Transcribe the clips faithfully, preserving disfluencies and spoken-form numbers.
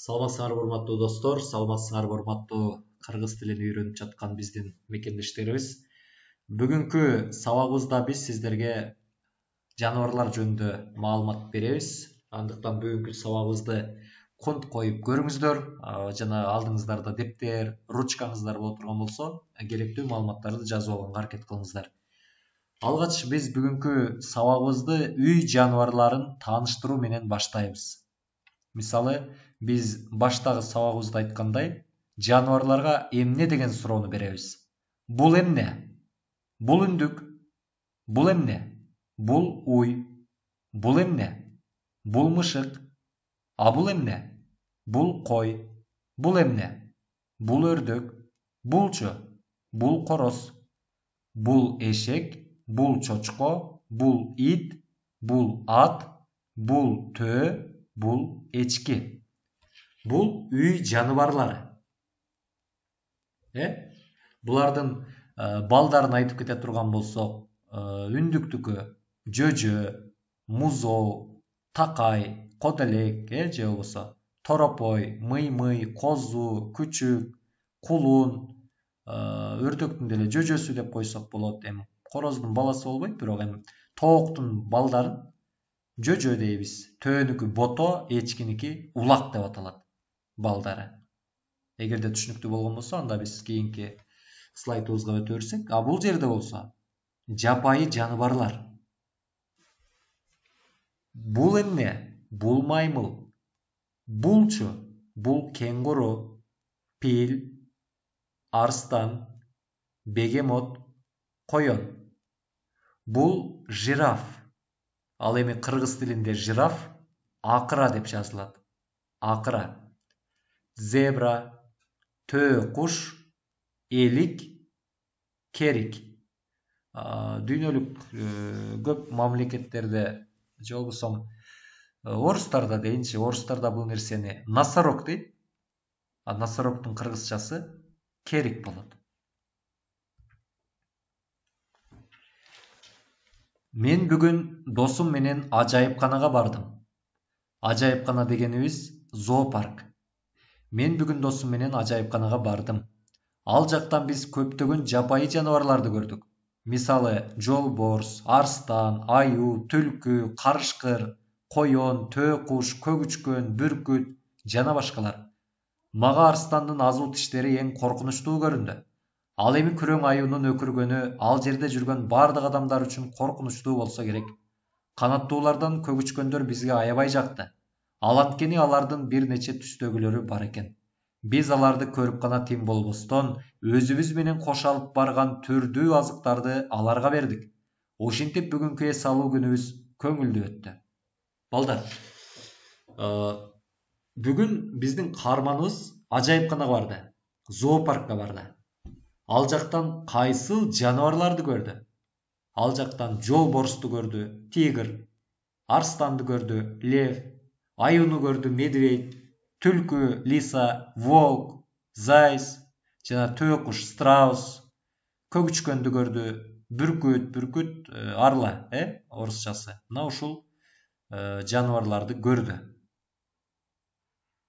Саламатсыңарбы урматтуу достор, саламатсыңарбы урматтуу кыргыз тилин үйрөнүп жаткан биздин мекендештерибиз. Бүгүнкү сабагыбызда биз сиздерге жаныбарлар жөнүндө маалымат беребиз. Андыктан бүгүнкү сабагыбызды конт коюп көрүңүздөр. Жана алдыңыздарда дептер, ручкаңыздар боло турган болсо, керектүү маалыматтарды жазып алганга аракет кылыңыздар. Алгач биз бүгүнкү сабагыбызды үй жаныбарларын тааныштыруу менен баштайбыз. Мисалы, биз баштагы сабагыбызда айткандай, жаныбарларга эмне деген суроону беребиз. Бул эмне? Бул үндүк. Бул эмне? Бул уй. Бул эмне? Бул мышык. А бул эмне? Бул кой. Бул эмне? Бул өрдөк. Булчу? Бул короз. Бул эшек. Бул чочко. Бул ит. Бул ат. Бул төө. Бул эчки. Бул үй жаныбарлары. Э? Булардын балдарын айтып кете турган болсок, үндүктүкү жөжө, музоо, такай, коделек, э, же болбосо торопой, мый-мый, козу, күчүк, кулун, өрдөктүн деле жөжөсү деп койсок болот. Эми короздун баласы болбойт, бирок эми тооктун балдарын жөжө дейбиз. Төөнүкү бото, эчкиники улак деп аталат балдары. Эгерде түшүнүктүү болгон болсо, анда биз кийинки слайдыбызга өтө берсек. А бул жерде болсо жапайы жаныбарлар. Бул эмне? Бул маймыл. Булчу? Бул кенгуру, пил, арстан, бегемот, коён. Бул жираф. Ал эми кыргыз тилинде жираф акыра деп жазылат. Акыра. Зебра, төө куш, элик, керик. Дүйнөлүк көп мамлекеттерде, же болбосо орустарда дейинчи, орустарда бул нерсени носорог дейт. А носорогдун кыргызчасы керик болот. Мен бүгүн досум менен ажайыпканага бардым. Ажайыпкана дегенибиз зоопарк. Мен бүгүн досум менен ажайыпканага бардым. Ал жактан биз көптөгөн жапайы жаныбарларды көрдүк. Мисалы, жолборс, арстан, аюу, түлкү, карышкыр, коён, төө куш, көгүчкөн, бүркүт жана башкалар. Мага арстандын азуу тиштери эң коркунучтуу көрүндү. Ал эми күрөң аюунун өкүргөнү ал жерде жүргөн бардык адамдар үчүн коркунучтуу болсо керек. Канаттуулардан көгүчкөндөр бизге аябай жакты. Ал анткени алардын бир нече түстөгүлөрү бар экен. Биз аларды көрүп гана тим болбостон, өзүбүз менен кош алып барган түрдүү азыктарды аларга бердик. Ошентип бүгүнкү эс алуу күнүбүз көңүлдүү өттү. Балдар, бүгүн биздин каарманыбыз ажайыпканага барды, зоопаркка барды. Ал жактан кайсыл жаныбарларды көрдү? Ал жактан жолборсту көрдү, тигр, арстанды көрдү, лев, аюуну көрдү, медведь, түлкү, лиса, волк, зайс, жана төө куш, страус, көгүчкөндү көрдү, бүркүт, бүркүт арла, э, орусчасы. Мына ушул жаныбарларды көрдү.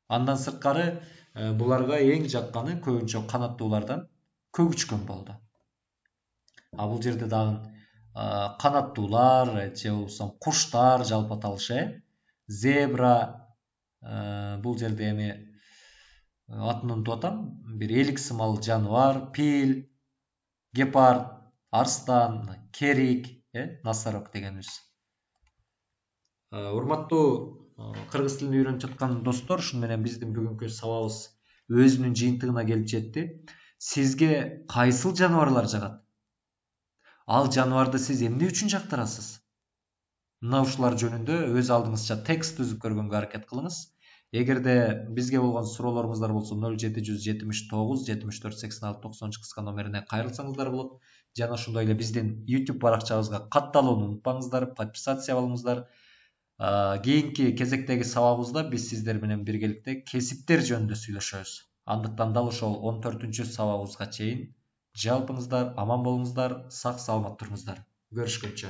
Андан сырткары буларга эң жакканы көбүнчө канаттуулардан көгүчкөн болду. А бул жерде дагы канаттуулар, же болбосо куштар жалпы аталышы, э, зебра, бул жерде эми атын унутуп атам, бир элик сымал жаныбар, пил, гепард, арстан, керик, э, носорог дегенибиз. Урматтуу кыргыз тилин үйрөнүп жаткан достор, ушуну менен биздин бүгүнкү сабагыбыз өзүнүн жыйынтыгына келип жетти. Сизге кайсыл жаныбарлар жагат? Ал жаныбарды сиз эмне үчүн жактырасыз? Мына ушулар жөнүндө өз алдыңызча текст түзүп көргөнгө аракет кылыңыз. Эгерде бизге болгон суроолоруңуздар болсо нөл жети жүз жетимиш тогуз жетимиш төрт сексен алты токсонунчу кыска номерине кайрылсаңыздар болот. Жана ошондой эле биздин YouTube баракчабызга катталууну унутпаңыздар, подписация болуңуздар. Кийинки кезектеги сабагыбызда биз сиздер менен биргеликте кесиптер жөнүндө сүйлөшөбүз. Андыктан дал ошол он төртүнчү сабагыбызга чейин жалпыңыздар аман болуңуздар, сак саламат туруңуздар. Көрүшкөнчө.